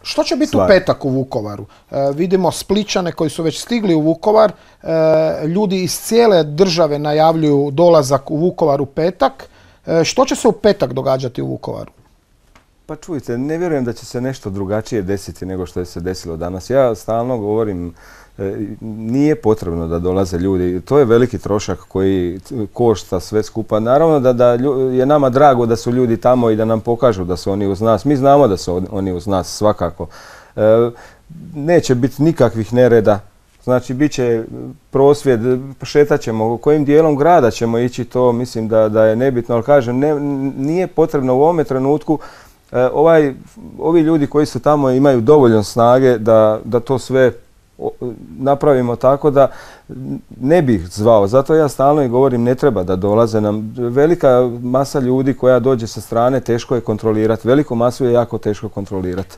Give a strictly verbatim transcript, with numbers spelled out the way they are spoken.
Što će biti u petak u Vukovaru? E, vidimo Splićane koji su već stigli u Vukovar. E, ljudi iz cijele države najavljuju dolazak u Vukovar u petak. E, što će se u petak događati u Vukovaru? Pa čujte, ne vjerujem da će se nešto drugačije desiti nego što je se desilo danas. Ja stalno govorim, nije potrebno da dolaze ljudi. To je veliki trošak koji košta sve skupa. Naravno da, da je nama drago da su ljudi tamo i da nam pokažu da su oni uz nas. Mi znamo da su oni uz nas svakako. E, neće biti nikakvih nereda. Znači, bit će prosvjed, šetat ćemo, kojim dijelom grada ćemo ići, to mislim da, da je nebitno. Ali kažem, ne, nije potrebno u ovome trenutku. E, ovaj, ovi ljudi koji su tamo imaju dovoljno snage da, da to sve napravimo tako da ne bih zvao. Zato ja stalno i govorim, ne treba da dolaze nam. Velika masa ljudi koja dođe sa strane teško je kontrolirati. Veliku masu je jako teško kontrolirati.